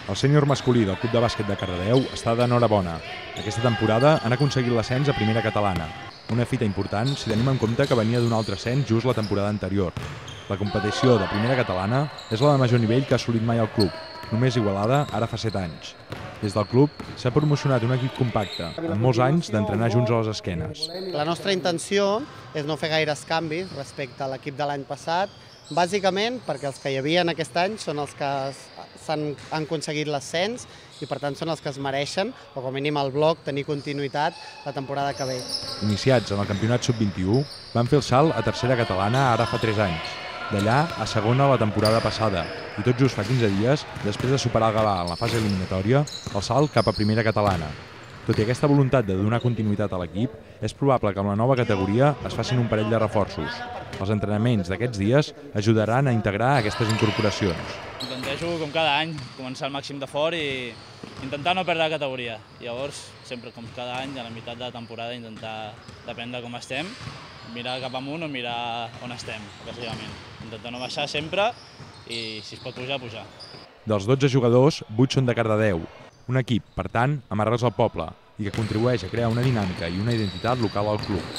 El sènior masculí del Club de Bàsquet de Cardedeu està d'enhorabona. Aquesta temporada han aconseguit l'ascens a primera catalana, una fita important si tenim en compte que venia d'un altre ascens just la temporada anterior. La competició de primera catalana és la de major nivell que ha assolit mai el club, només igualada ara fa 7 anys. Des del club s'ha promocionat un equip compacte, amb molts anys d'entrenar junts a les esquenes. La nostra intenció és no fer gaires canvis respecte a l'equip de l'any passat, bàsicament perquè els que hi havia aquest any són els que han aconseguit l'ascens i per tant són els que es mereixen, o com a mínim el bloc, tenir continuïtat la temporada que ve. Iniciats en el campionat sub-21, van fer el salt a tercera catalana ara fa 3 anys. D'allà a segona la temporada passada i tot just fa 15 dies, després de superar el Gavà en la fase eliminatòria, el salt cap a primera catalana. Tot i aquesta voluntat de donar continuïtat a l'equip, és probable que amb la nova categoria es facin un parell de reforços. Els entrenaments d'aquests dies ajudaran a integrar aquestes incorporacions. Intento, com cada any, començar el màxim de fort i intentar no perdre la categoria. Llavors, sempre com cada any, a la meitat de la temporada, intentar dependre com estem, mirar cap amunt o mirar on estem, bàsicament. Intentar no baixar sempre i, si es pot pujar, pujar. Dels 12 jugadors, 8 són de Cardedeu, un equip, per tant, amb arrels al poble i que contribueix a crear una dinàmica i una identitat local al club.